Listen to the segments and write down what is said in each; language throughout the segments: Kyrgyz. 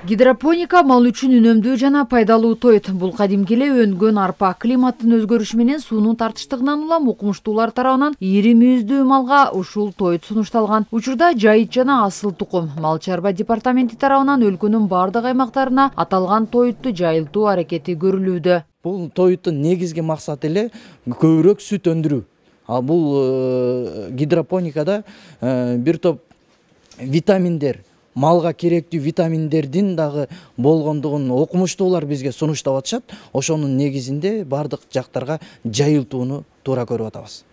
Гидропоника мал үчүн үнөмдүү жана пайдалуу тоют. Бул кадимки эле өнгөн арпа. Климаттын өзгөрүшү менен суунун тартыштыгынан улам укмуштуулар тарабынан ири мүйүздүү малга ушул тоют сунушталган. Учурда жайыт жана асыл тукум мал чарба департаменти тарабынан өлкөнүн бардык аймактарына аталган тоютту жайылтуу аракети көрүлүүдө. Бул тоюттун негизги максаты эле көбүрөөк сүт өндүрүү. А бул гидропоникада бир топ витаминдер, малга керектүү витаминдердин дагы болгондугун окумуштуулар бизге сунуштап атышат. Ошонун негизинде бардык жактарга жайылтууну туура көрүп атабыз.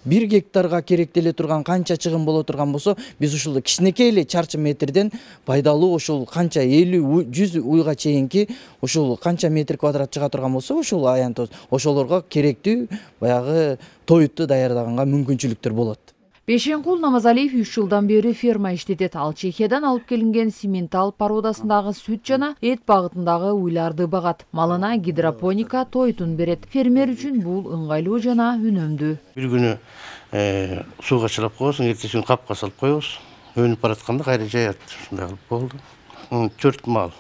1 гектарга керектеле турган канча чыгым боло турган болсо, биз ушул кичинекей эле чарчы метрден пайдалуу ушул канча 50-100 уйга чейинки ушул канча метр квадрат чыга турган болсо, ушул аянтыбыз ошолорго керектүү баягы тоютту даярдаганга мүмкүнчүлүктөр болот. Бешенкул Намазалиев 3 жылдан бери ферма иштетет. Ал Чехиядан алып келинген симментал породасындагы сүт жана эт багытындагы уйларды багат. Малына гидропоника тоютун берет. Фермер үчүн бул ыңгайлуу жана үнөмдүү. Бир күнү сууга чылап коесуң, эртеси күнү капка салып коебуз. Өнүп баратканда кайра жаят. Ушундай кылып болду. 4 мал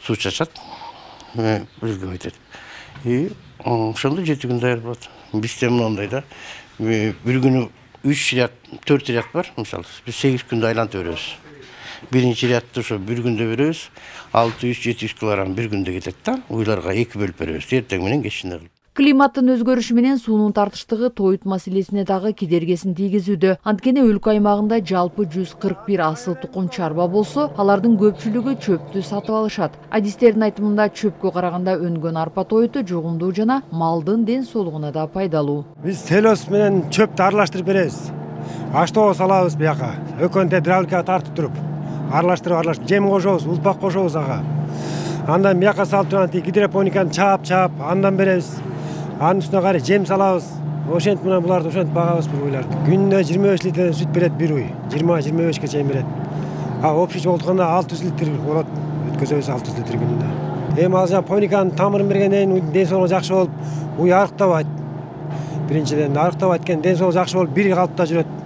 суу чачат. Бизге айтат. Ошондо 7 күн даяр болот. Бизде моундай да. Бир күнү 3 ряд, 4 ряд бар, мисалы. Biz 8 күндө айлантып беребиз. Биринчи рядты ошо бир күндө беребиз. 600-700 килограмм бир күндө кетет да. Уйларга 2 бөлүп беребиз. Эртең менен кечинде кылып. Климаттын өзгөрүшү менен суунун тартыштыгы тоют маселесине дагы кедергесин тийгизүүдө. Анткени өлкө аймагында жалпы 141 асыл тукум чарба болсо, алардын көпчүлүгү чөптү сатып алышат. Адистердин айтымында чөпкө караганда өнгөн арпа тоюту жугумдуу жана малдын ден соолугуна да пайдалуу. Биз селос менен чөптү аралаштырып беребиз. Аштоо салабыз бияка. Өкөнтө дравликага тартып туруп, аралаштырып жем кошобуз, улпак кошобуз ага. Андан бияка салып турган гидропониканы чаап, андан беребиз. Анын үстүнө кайра жем салабыз. Ошентип менен буларды ошентип багабыз бул уйларды. Күнүнө 25 литрден сүт берет бир уй. 20-25ке чейин берет. Общий болтканда 600 литр болот. Өткөзөбүз 600 литр күнүнө. Ал жана пониканын тамырын бергенден кийин ден соолугу жакшы болуп, уй арыктабайт. Биринчиден арыктабайт экен, ден соолугу жакшы болуп, бир калыпта жүрөт.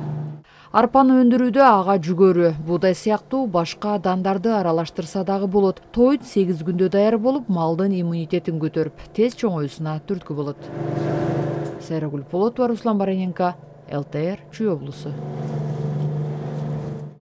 Арпаны өндүрүүдө ага жүгөрү, буудай сыяктуу башка дандарды аралаштырса дагы болот. Тоют 8 күндө даяр болуп, малдын иммунитетин көтөрүп, тез чоңоюусуна түрткү болот. Сайрагүл Полотова, Руслан Бараненко, ЛТР, Чүй облусу.